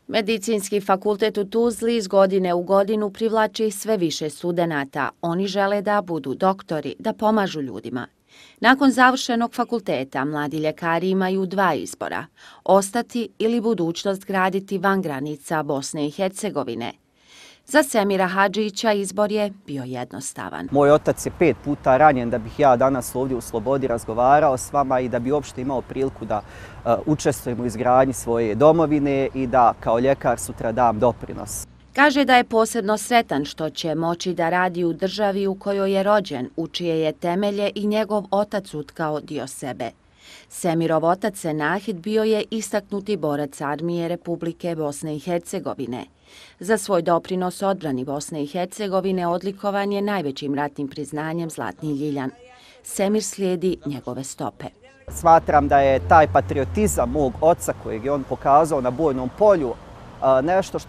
Medicinski fakultet u Tuzli iz godine u godinu privlači sve više studenata. Oni žele da budu doktori, da pomažu ljudima. Nakon završenog fakulteta, mladi ljekari imaju dva izbora: ostati ili budućnost graditi van granica Bosne i Hercegovine. Za Semira Hadžića izbor je bio jednostavan. Moj otac je 5 puta ranjen da bih ja danas ovdje u slobodi razgovarao s vama i da bi uopšte imao priliku da učestvujem u izgradnji svoje domovine i da kao ljekar sutra dam doprinos. Kaže da je posebno sretan što će moći da radi u državi u kojoj je rođen, u čije je temelje i njegov otac utkao dio sebe. Semirov otac Senahid bio je istaknuti borac armije Republike Bosne i Hercegovine. Za svoj doprinos odbrani Bosne i Hercegovine odlikovan je najvećim ratnim priznanjem Zlatni ljiljan. Semir slijedi njegove stope. Smatram da je taj patriotizam mog oca kojeg je on pokazao na bojnom polju nešto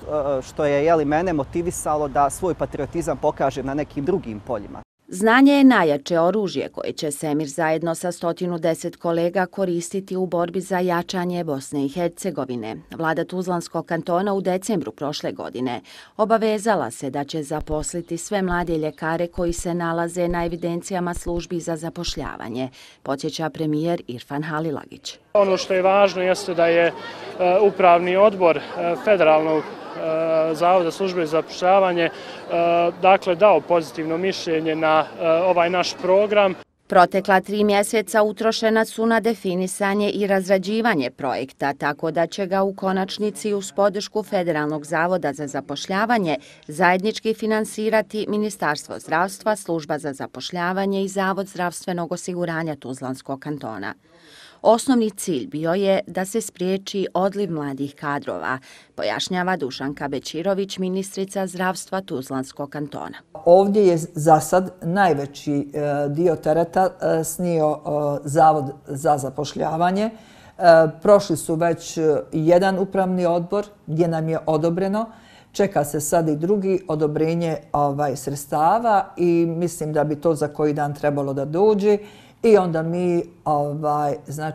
što je mene motivisalo da svoj patriotizam pokažem na nekim drugim poljima. Znanje je najjače oružje koje će Semir zajedno sa 110 kolega koristiti u borbi za jačanje Bosne i Hercegovine. Vlada Tuzlanskog kantona u decembru prošle godine obavezala se da će zaposliti sve mlade ljekare koji se nalaze na evidencijama službi za zapošljavanje, podsjeća premijer Irfan Halilagić. Ono što je važno jeste da je upravni odbor federalnog Zavoda službe za zapošljavanje dao pozitivno mišljenje na ovaj naš program. Protekla 3 mjeseca utrošena su na definisanje i razrađivanje projekta, tako da će ga u konačnici uz podršku Federalnog zavoda za zapošljavanje zajednički finansirati Ministarstvo zdravstva, Služba za zapošljavanje i Zavod zdravstvenog osiguranja Tuzlanskog kantona. Osnovni cilj bio je da se spriječi odliv mladih kadrova, pojašnjava Dušanka Bećirović, ministrica zdravstva Tuzlanskog kantona. Ovdje je za sad najveći dio tereta snio Zavod za zapošljavanje. Prošli su već jedan upravni odbor gdje nam je odobreno. Čeka se sad i drugi odobrenje sredstava i mislim da bi to za koji dan trebalo da dođe. I onda mi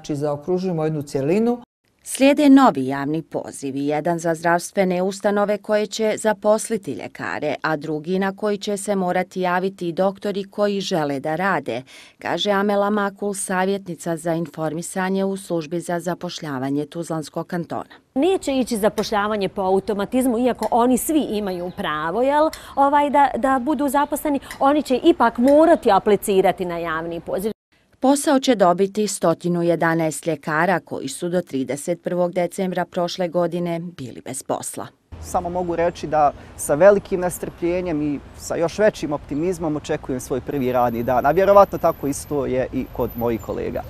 zaokružujemo jednu cjelinu. Slijede novi javni pozivi, jedan za zdravstvene ustanove koje će zaposliti ljekare, a drugi na koji će se morati javiti i doktori koji žele da rade, kaže Amela Makul, savjetnica za informisanje u službi za zapošljavanje Tuzlanskog kantona. Neće ići zapošljavanje po automatizmu, iako oni svi imaju pravo da budu zaposleni, oni će ipak morati aplicirati na javni poziv. Posao će dobiti 111 ljekara koji su do 31. decembra prošle godine bili bez posla. Samo mogu reći da sa velikim nestrpljenjem i sa još većim optimizmom očekujem svoj prvi radni dan, a vjerovatno tako isto je i kod mojih kolega.